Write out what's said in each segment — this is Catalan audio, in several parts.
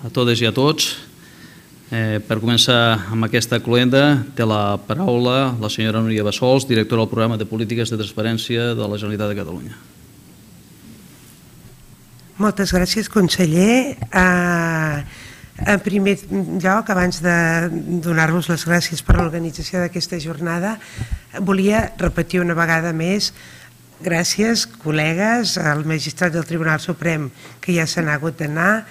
a totes i a tots. Per començar amb aquesta cloenda té la paraula la senyora Núria Bassols, directora del programa de polítiques de transparència de la Generalitat de Catalunya. Moltes gràcies, conseller. En primer lloc, abans de donar-vos les gràcies per l'organització d'aquesta jornada, volia repetir una vegada més gràcies, col·legues, al magistrat del Tribunal Suprem que ja se n'ha hagut d'anar,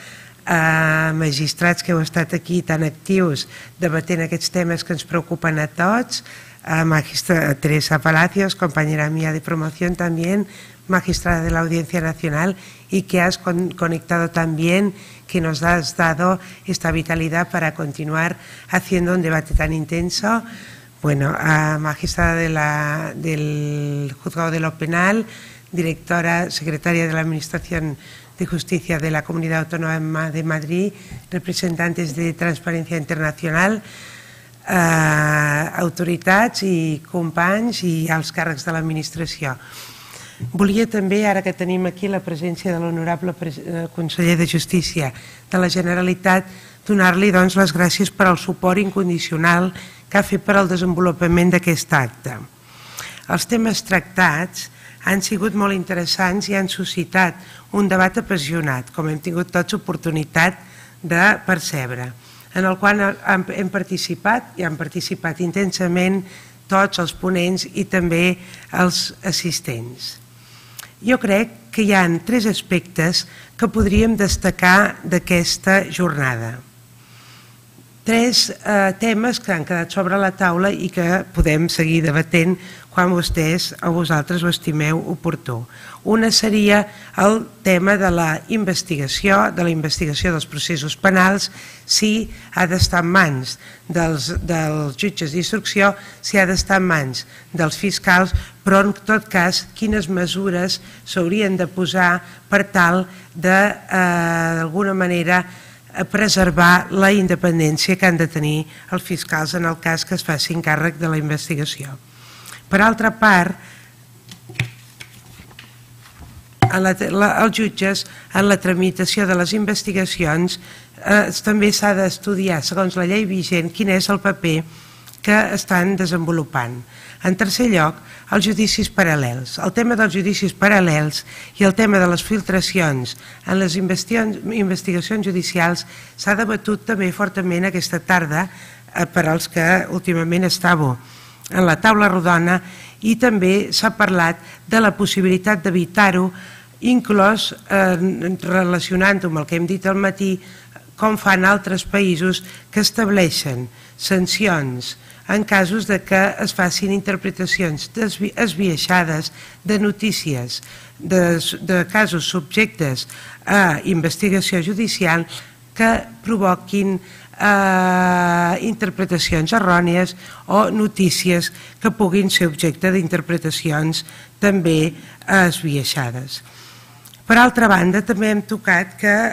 magistrats que heu estat aquí tan actius debatent aquests temes que ens preocupen a tots, magistrada Teresa Palacios, compañera mía de promoción también, magistrada de la Audiencia Nacional, y que has conectado también, que nos has dado esta vitalidad para continuar haciendo un debate tan intenso. Bueno, magistrada del Juzgado de lo Penal, directora, secretaria de la Administración de Justicia de la Comunidad Autónoma de Madrid, representantes de Transparència Internacional, autoritats i companys i alts càrrecs de l'administració. Volia també, ara que tenim aquí la presència de l'honorable conseller de Justícia de la Generalitat, donar-li les gràcies per al suport incondicional que ha fet per al desenvolupament d'aquest acte. Els temes tractats han sigut molt interessants i han suscitat un debat apassionat, com hem tingut tots oportunitat de percebre, en el qual hem participat i han participat intensament tots els ponents i també els assistents. Jo crec que hi ha 3 aspectes que podríem destacar d'aquesta jornada. 3 temes que han quedat sobre la taula i que podem seguir debatent quan vostès o vosaltres ho estimeu oportú. Una seria el tema de la investigació dels processos penals, si ha d'estar en mans dels jutges d'instrucció, si ha d'estar en mans dels fiscals, però en tot cas quines mesures s'haurien de posar per tal de, d'alguna manera, preservar la independència que han de tenir els fiscals en el cas que es facin càrrec de la investigació. Per altra part, els jutges, en la tramitació de les investigacions, també s'ha d'estudiar, segons la llei vigent, quin és el paper que estan desenvolupant. En tercer lloc, els judicis paral·lels. El tema dels judicis paral·lels i el tema de les filtracions en les investigacions judicials s'ha debatut també fortament aquesta tarda per als que últimament estàveu en la taula rodona, i també s'ha parlat de la possibilitat d'evitar-ho, inclòs relacionant-ho amb el que hem dit al matí, com fan altres països que estableixen sancions en casos de que es facin interpretacions esbiaixades de notícies, de casos subjectes a investigació judicial que provoquin interpretacions errònies o notícies que puguin ser objecte d'interpretacions també esbiaixades. Per altra banda, també hem tocat que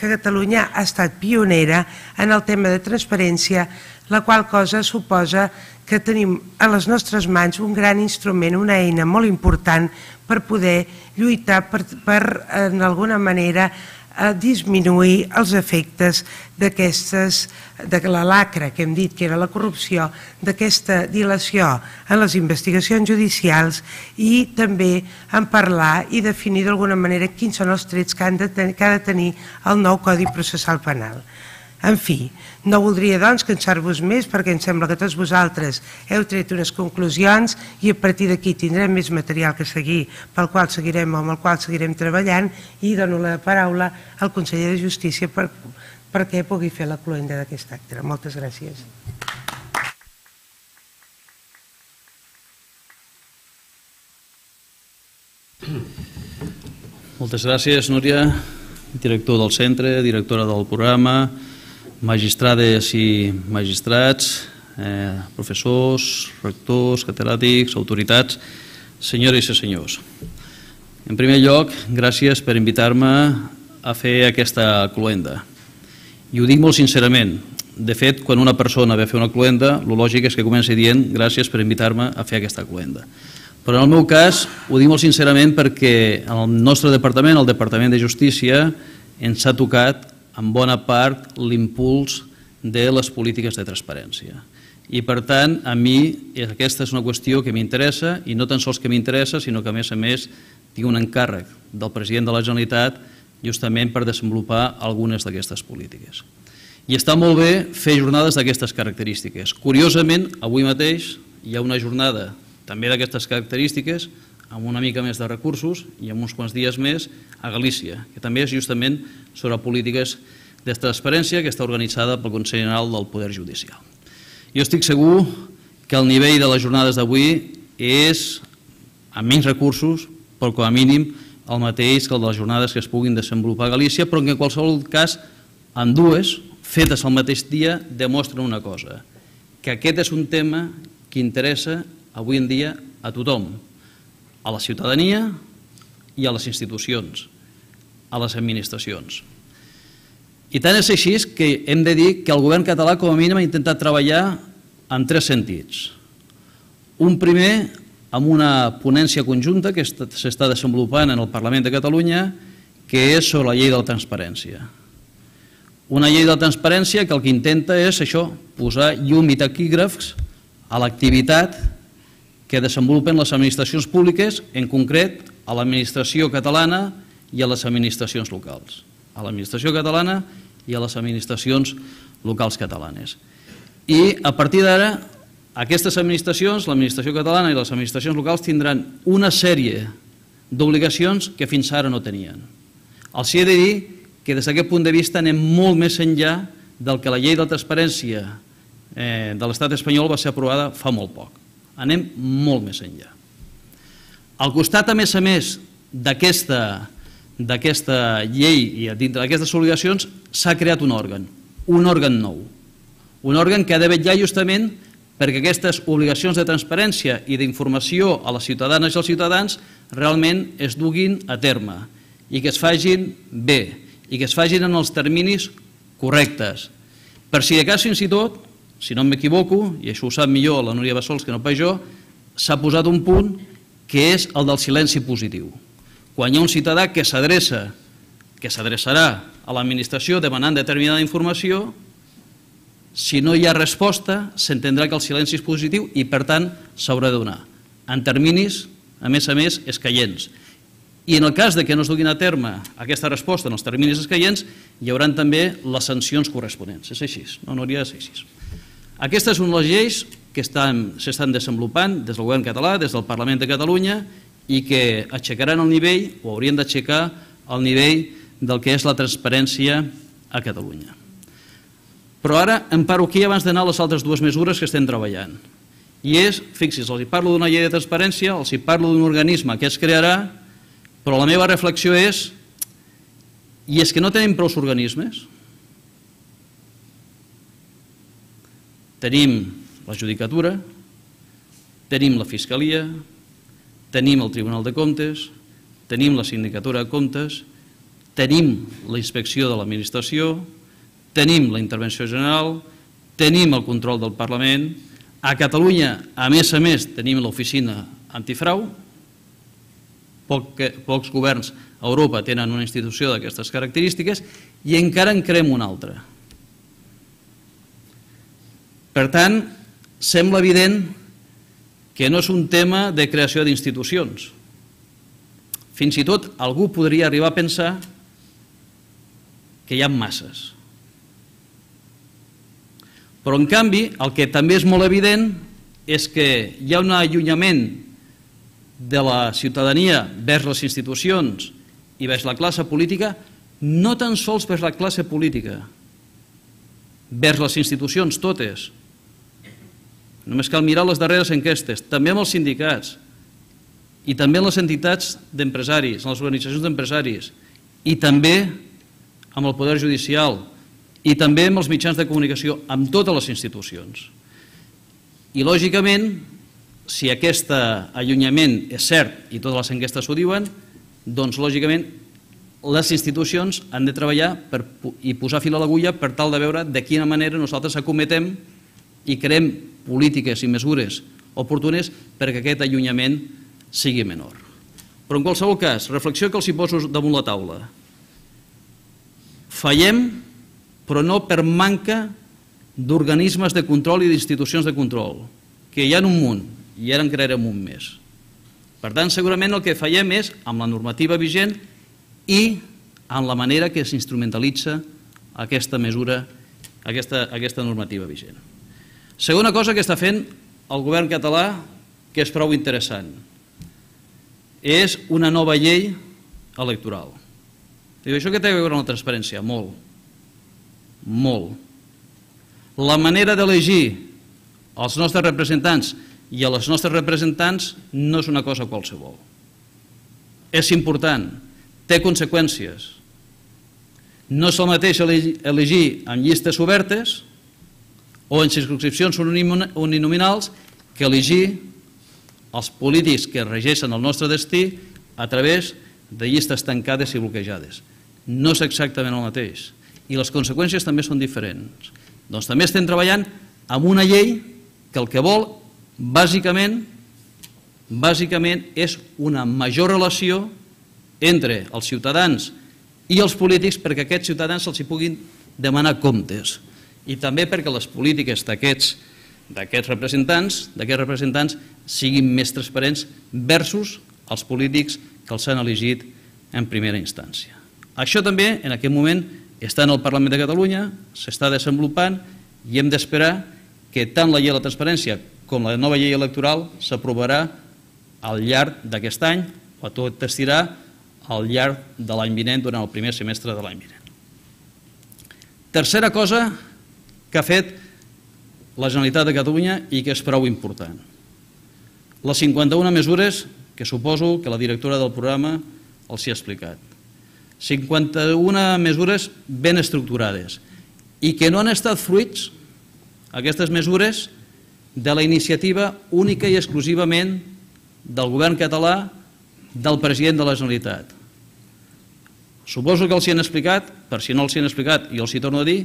Catalunya ha estat pionera en el tema de transparència, la qual cosa suposa que tenim a les nostres mans un gran instrument, una eina molt important per poder lluitar per, en alguna manera, disminuir els efectes de la lacra que hem dit que era la corrupció, d'aquesta dilació en les investigacions judicials, i també en parlar i definir d'alguna manera quins són els trets que ha de tenir el nou Codi Processal Penal. En fi, no voldria doncs cansar-vos més, perquè em sembla que tots vosaltres heu tret unes conclusions i a partir d'aquí tindrem més material que seguir, pel qual seguirem o amb el qual seguirem treballant, i dono la paraula al conseller de Justícia perquè pugui fer la cloenda d'aquest acte. Moltes gràcies. Moltes gràcies, Núria, director del centre, directora del programa, magistrades i magistrats, professors, rectors, catedràtics, autoritats, senyores i senyors. En primer lloc, gràcies per invitar-me a fer aquesta cloenda. I ho dic molt sincerament. De fet, quan una persona ve a fer una cloenda, el lògic és que comenci dient gràcies per invitar-me a fer aquesta cloenda. Però en el meu cas ho dic molt sincerament perquè el nostre departament, el Departament de Justícia, ens ha tocat en bona part, l'impuls de les polítiques de transparència. I, per tant, a mi aquesta és una qüestió que m'interessa, i no tan sols que m'interessa, sinó que, a més, tinc un encàrrec del president de la Generalitat justament per desenvolupar algunes d'aquestes polítiques. I està molt bé fer jornades d'aquestes característiques. Curiosament, avui mateix hi ha una jornada també d'aquestes característiques, amb una mica més de recursos i amb uns quants dies més a Galícia, que també és justament sobre polítiques de transparència que està organitzada pel Consell General del Poder Judicial. Jo estic segur que el nivell de les jornades d'avui és, amb menys recursos, però com a mínim el mateix que el de les jornades que es puguin desenvolupar a Galícia, però que en qualsevol cas, en dues, fetes al mateix dia, demostren una cosa, que aquest és un tema que interessa avui en dia a tothom, a la ciutadania i a les institucions, a les administracions. I tant és així que hem de dir que el govern català com a mínim ha intentat treballar en tres sentits. Un primer, amb una ponència conjunta que s'està desenvolupant en el Parlament de Catalunya, que és sobre la llei de la transparència. Una llei de la transparència que el que intenta és això, posar llum i taquígrafs a l'activitat que desenvolupen les administracions públiques, en concret a l'administració catalana i a les administracions locals. A l'administració catalana i a les administracions locals catalanes. I a partir d'ara, aquestes administracions, l'administració catalana i les administracions locals, tindran una sèrie d'obligacions que fins ara no tenien. Els he de dir que des d'aquest punt de vista anem molt més enllà del que la llei de transparència de l'estat espanyol va ser aprovada fa molt poc. Anem molt més enllà. Al costat, a més, d'aquesta llei i dintre d'aquestes obligacions s'ha creat un òrgan nou. Un òrgan que ha de vetllar justament perquè aquestes obligacions de transparència i d'informació a les ciutadanes i als ciutadans realment es duguin a terme i que es facin bé i que es facin en els terminis correctes. Per si de cas, fins i tot, si no m'equivoco, i això ho sap millor la Núria Bassols que no pas jo, s'ha posat un punt que és el del silenci positiu. Quan hi ha un ciutadà que s'adreça, que s'adreçarà a l'administració demanant determinada informació, si no hi ha resposta, s'entendrà que el silenci és positiu i, per tant, s'haurà de donar. En terminis, a més, escaients. I en el cas que no es duguin a terme aquesta resposta en els terminis escaients, hi haurà també les sancions corresponents. És així, no hauria de ser així. Aquestes són les lleis que s'estan desenvolupant des del govern català, des del Parlament de Catalunya, i que aixecaran el nivell, o haurien d'aixecar el nivell del que és la transparència a Catalunya. Però ara em paro aquí abans d'anar a les altres dues mesures que estem treballant. I és, fixi's, els hi parlo d'una llei de transparència, els hi parlo d'un organisme que es crearà, però la meva reflexió és, i és que no tenim prou organismes? Tenim la Judicatura, tenim la Fiscalia, tenim el Tribunal de Comptes, tenim la Sindicatura de Comptes, tenim la Inspecció de l'Administració, tenim la Intervenció General, tenim el control del Parlament, a Catalunya, a més, tenim l'Oficina Antifrau, pocs governs a Europa tenen una institució d'aquestes característiques i encara en creem una altra. Per tant, sembla evident que no és un tema de creació d'institucions. Fins i tot algú podria arribar a pensar que hi ha masses. Però, en canvi, el que també és molt evident és que hi ha un allunyament de la ciutadania vers les institucions i vers la classe política, no tan sols vers la classe política, vers les institucions totes. Només cal mirar les darreres enquestes, també amb els sindicats i també amb les entitats d'empresaris, amb les organitzacions d'empresaris i també amb el Poder Judicial i també amb els mitjans de comunicació, amb totes les institucions. I, lògicament, si aquest allunyament és cert i totes les enquestes ho diuen, doncs, lògicament, les institucions han de treballar i posar fil a l'agulla per tal de veure de quina manera nosaltres acometem i creem polítiques i mesures oportunes perquè aquest allunyament sigui menor. Però, en qualsevol cas, reflexió que els hi poso damunt la taula. Fallem però no per manca d'organismes de control i d'institucions de control, que hi ha un munt, i ara en crearem un més. Per tant, segurament el que fallem és amb la normativa vigent i en la manera que s'instrumentalitza aquesta mesura, aquesta normativa vigent. Segona cosa que està fent el govern català, que és prou interessant, és una nova llei electoral. Diu, això què té a veure amb la transparència? Molt. Molt. La manera d'elegir els nostres representants i a les nostres representants no és una cosa qualsevol. És important, té conseqüències. No és el mateix elegir en llistes obertes o en circumscripcions uninominals que elegir els polítics que regeixen el nostre destí a través de llistes tancades i bloquejades. No és exactament el mateix. I les conseqüències també són diferents. Doncs també estem treballant amb una llei que el que vol, bàsicament, és una major relació entre els ciutadans i els polítics perquè a aquests ciutadans se'ls puguin demanar comptes i també perquè les polítiques d'aquests representants siguin més transparents versus els polítics que els han elegit en primera instància. Això també en aquest moment està en el Parlament de Catalunya, s'està desenvolupant i hem d'esperar que tant la llei de la transparència com la nova llei electoral s'aprovarà al llarg d'aquest any o tot estirà al llarg de l'any vinent, durant el primer semestre de l'any vinent. Tercera cosa que ha fet la Generalitat de Catalunya i que és prou important. Les 51 mesures que suposo que la directora del programa els hi ha explicat. 51 mesures ben estructurades i que no han estat fruits, aquestes mesures, de la iniciativa única i exclusivament del govern català, del president de la Generalitat. Suposo que els hi han explicat, per si no els hi han explicat i els hi torno a dir,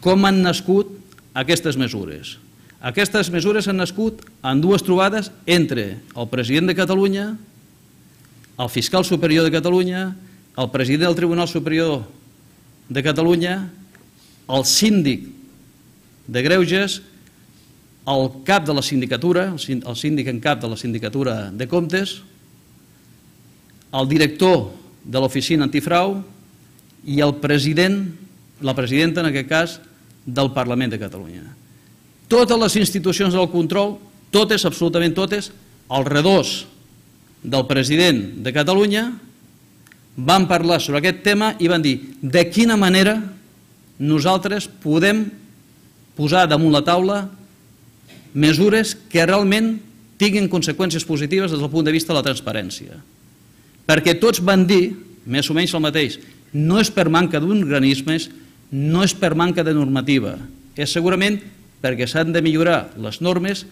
com han nascut aquestes mesures. Aquestes mesures han nascut en dues trobades entre el president de Catalunya, el fiscal superior de Catalunya, el president del Tribunal Superior de Catalunya, el síndic de Greuges, el cap de la sindicatura, el síndic en cap de la sindicatura de comptes, el director de l'oficina antifrau i el president, la presidenta en aquest cas, del Parlament de Catalunya. Totes les institucions del control, totes, absolutament totes, als redors del president de Catalunya, van parlar sobre aquest tema i van dir de quina manera nosaltres podem posar damunt la taula mesures que realment tinguin conseqüències positives des del punt de vista de la transparència. Perquè tots van dir, més o menys el mateix, no és per manca d'organismes, no és per manca de normativa, és segurament perquè s'han de millorar les normes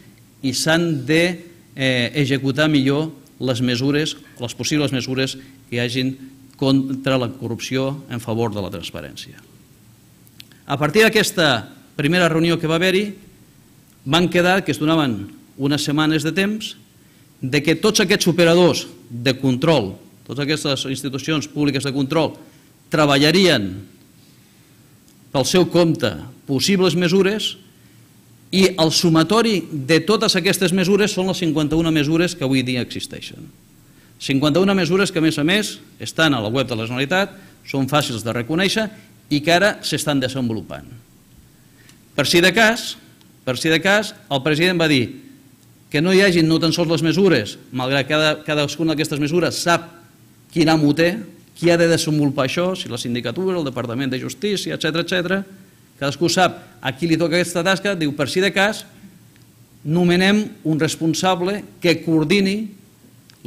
i s'han d'executar millor les mesures, les possibles mesures que hi hagin contra la corrupció en favor de la transparència. A partir d'aquesta primera reunió que va haver-hi, van quedar que es donaven unes setmanes de temps de que tots aquests operadors de control, totes aquestes institucions públiques de control, treballarien pel seu compte possibles mesures i el sumatori de totes aquestes mesures són les 51 mesures que avui dia existeixen. 51 mesures que, a més, estan a la web de la Generalitat, són fàcils de reconèixer i que ara s'estan desenvolupant. Per si de cas, el president va dir que no hi hagin no tan sols les mesures, malgrat que cadascuna d'aquestes mesures sap quin amo té, qui ha de desenvolupar això, si la sindicatura, el Departament de Justícia, etc. Cadascú sap a qui li toca aquesta tasca, diu per si de cas nomenem un responsable que coordini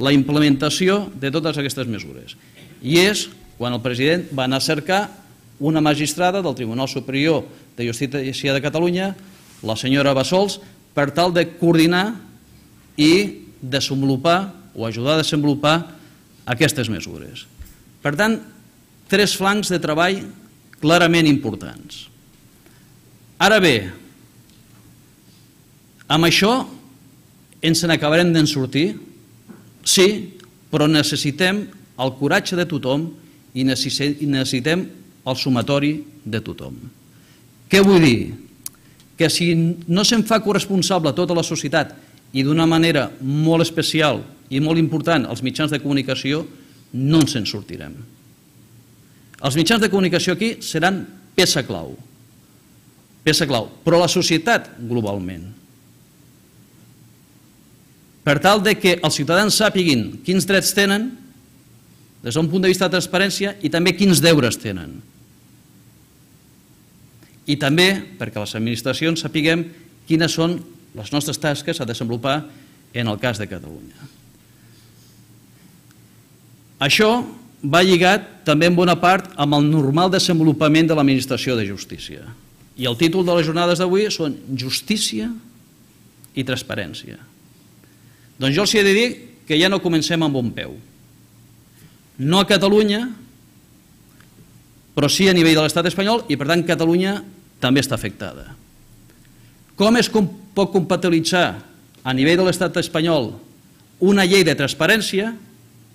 la implementació de totes aquestes mesures. I és quan el president va anar a cercar una magistrada del Tribunal Superior de Justícia de Catalunya, la senyora Bassols, per tal de coordinar i desenvolupar o ajudar a desenvolupar aquestes mesures. Per tant, 3 flancs de treball clarament importants. Ara bé, amb això ens n'acabarem d'en sortir? Sí, però necessitem el coratge de tothom i necessitem el sumatori de tothom. Què vull dir? Que si no se'n fa corresponsable tota la societat i d'una manera molt especial i molt important els mitjans de comunicació, no ens en sortirem. Els mitjans de comunicació aquí seran peça clau, però la societat globalment. Per tal que els ciutadans sàpiguin quins drets tenen des d'un punt de vista de transparència i també quins deures tenen. I també perquè les administracions sapiguem quines són les nostres tasques a desenvolupar en el cas de Catalunya. Això va lligat també en bona part amb el normal desenvolupament de l'administració de justícia. I el títol de les jornades d'avui són Justícia i Transparència. Doncs jo els he de dir que ja no comencem amb bon peu. No a Catalunya, però sí a nivell de l'estat espanyol i per tant Catalunya també està afectada. Com es pot compatibilitzar a nivell de l'estat espanyol una llei de transparència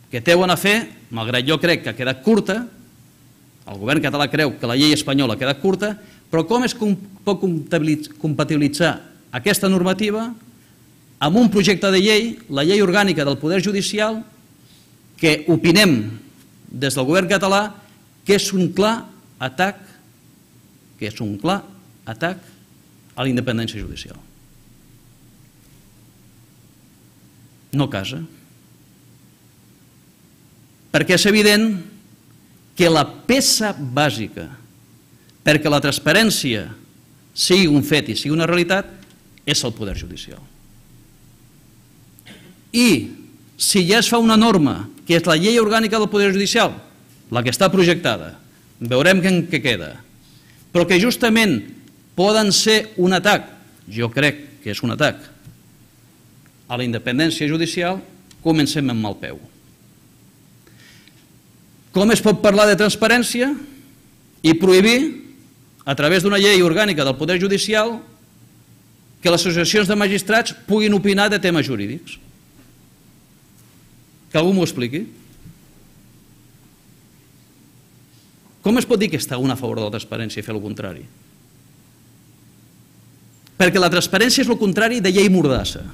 que té bona fe, malgrat jo crec que ha quedat curta, el govern català creu que la llei espanyola ha quedat curta, però com es pot compatibilitzar aquesta normativa amb un projecte de llei, la llei orgànica del Poder Judicial, que opinem des del govern català que és un clar atac a la independència judicial. No casa. Perquè és evident que la peça bàsica perquè la transparència sigui un fet i sigui una realitat és el Poder Judicial. I si ja es fa una norma, que és la llei orgànica del Poder Judicial, la que està projectada, veurem què queda, però que justament poden ser un atac, jo crec que és un atac, a la independència judicial, comencem amb mal peu. Com es pot parlar de transparència i prohibir, a través d'una llei orgànica del Poder Judicial, que les associacions de magistrats puguin opinar de temes jurídics? Que algú m'ho expliqui. Com es pot dir que està un a favor de la transparència i fer el contrari? Perquè la transparència és el contrari de llei mordassa.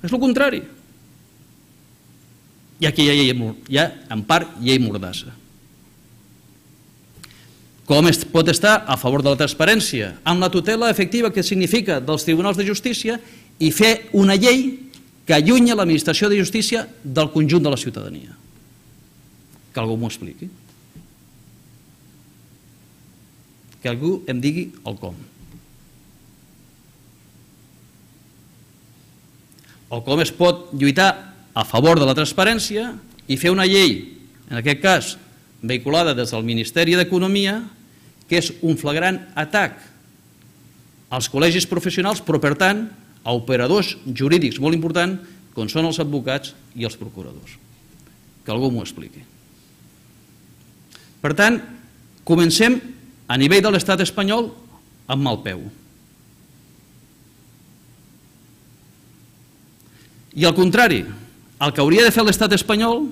És el contrari. I aquí hi ha, en part, llei mordassa. Com es pot estar a favor de la transparència? Amb la tutela efectiva que significa dels tribunals de justícia i fer una llei que allunya l'administració de justícia del conjunt de la ciutadania. Que algú m'ho expliqui. Que algú em digui el com. O com es pot lluitar a favor de la transparència i fer una llei, en aquest cas vehiculada des del Ministeri d'Economia, que és un flagrant atac als col·legis professionals, però per tant a operadors jurídics molt importants com són els advocats i els procuradors. Que algú m'ho expliqui. Per tant, comencem a nivell de l'estat espanyol amb mal peu. I al contrari, el que hauria de fer l'estat espanyol,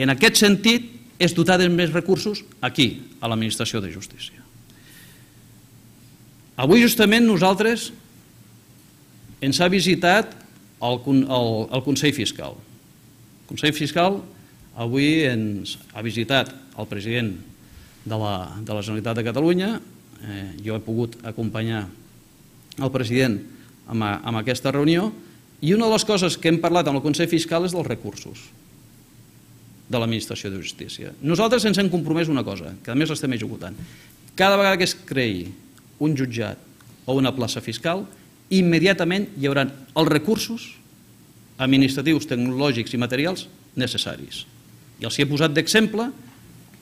en aquest sentit, és dotar de més recursos aquí, a l'administració de justícia. Avui justament nosaltres ens ha visitat el Consell Fiscal. El Consell Fiscal avui ens ha visitat el president de la Generalitat de Catalunya. Jo he pogut acompanyar el president en aquesta reunió i una de les coses que hem parlat amb el Consell Fiscal és dels recursos de l'administració de justícia. Nosaltres ens hem compromès una cosa, que a més l'estem executant. Cada vegada que es creï un jutjat o una plaça fiscal, immediatament hi haurà els recursos administratius, tecnològics i materials necessaris. I els he posat d'exemple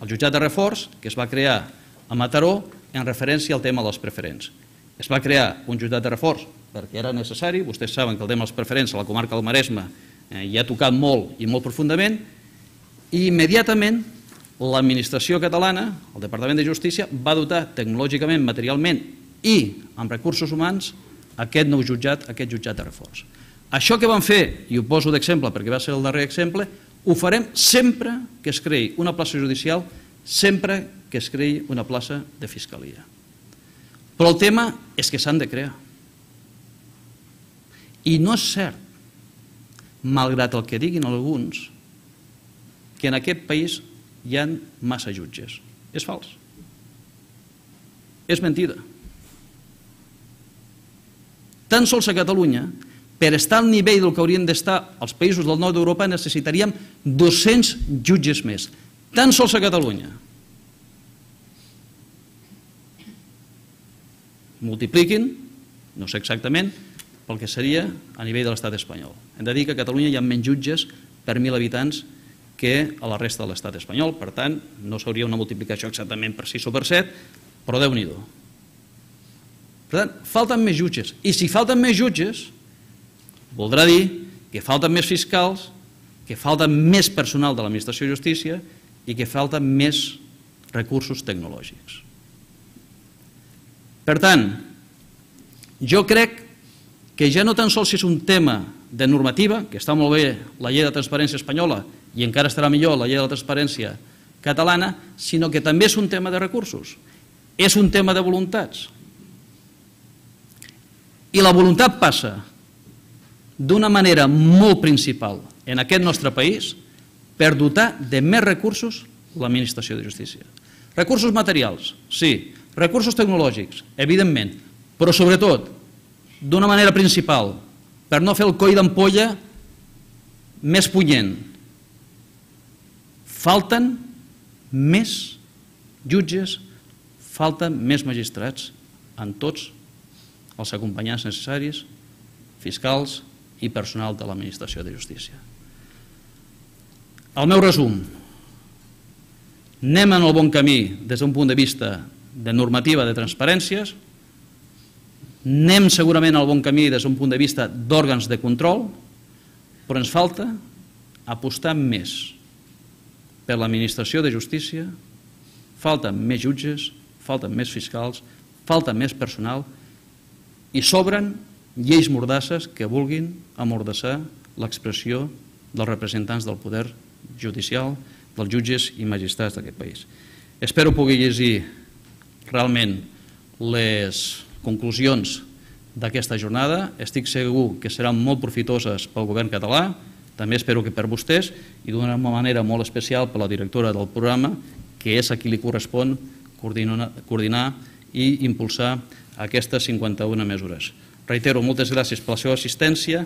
el jutjat de reforç que es va crear a Mataró en referència al tema dels preferents. Es va crear un jutjat de reforç perquè era necessari. Vostès saben que el tema dels preferents a la comarca del Maresme hi ha tocat molt i molt profundament, i immediatament l'administració catalana, el Departament de Justícia, va dotar tecnològicament, materialment i amb recursos humans aquest nou jutjat, aquest jutjat de reforç. Això que vam fer, i ho poso d'exemple perquè va ser el darrer exemple, ho farem sempre que es creï una plaça judicial sempre que es creï una plaça de fiscalia. Però el tema és que s'han de crear. I no és cert, malgrat el que diguin alguns, que en aquest país hi ha massa jutges. És fals. És mentida. Tan sols a Catalunya, per estar al nivell del que haurien d'estar els països del nord d'Europa, necessitaríem 200 jutges més. Tan sols a Catalunya. Multipliquin, no sé exactament, pel que seria a nivell de l'estat espanyol. Hem de dir que a Catalunya hi ha menys jutges per 1.000 habitants que a la resta de l'estat espanyol. Per tant, no s'hauria una multiplicació exactament per 6 o per 7, però Déu-n'hi-do. Per tant, falten més jutges. I si falten més jutges, voldrà dir que falten més fiscals, que falta més personal de l'administració de justícia i que falten més recursos tecnològics. Per tant, jo crec que ja no tan sols és un tema de normativa, que està molt bé la llei de transparència espanyola i encara estarà millor la llei de la transparència catalana, sinó que també és un tema de recursos, és un tema de voluntats. I la voluntat passa d'una manera molt principal en aquest nostre país per dotar de més recursos l'administració de justícia. Recursos materials, sí. Recursos tecnològics, evidentment, però sobretot, d'una manera principal, per no fer el coll d'ampolla més punyent. Falten més jutges, falten més magistrats en tots els acompanyants necessaris, fiscals i personal de l'administració de justícia. El meu resum. Anem en el bon camí des d'un punt de vista de normativa de transparències, anem segurament al bon camí des d'un punt de vista d'òrgans de control, però ens falta apostar més per l'administració de justícia, falten més jutges, falten més fiscals, falta més personal i sobren lleis mordasses que vulguin amordassar l'expressió dels representants del poder judicial, dels jutges i magistrats d'aquest país. Espero poder llegir realment les conclusions d'aquesta jornada. Estic segur que seran molt profitoses pel govern català, també espero que per vostès i d'una manera molt especial per la directora del programa, que és a qui li correspon coordinar i impulsar aquestes 51 mesures. Reitero, moltes gràcies per la seva assistència.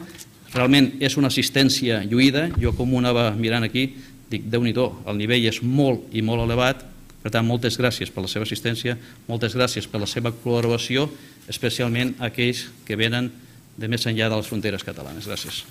Realment és una assistència lluïda. Jo, com ho anava mirant aquí, dic, Déu-n'hi-do, el nivell és molt i molt elevat. Per tant, moltes gràcies per la seva assistència, moltes gràcies per la seva col·laboració, especialment a aquells que venen de més enllà de les fronteres catalanes. Gràcies.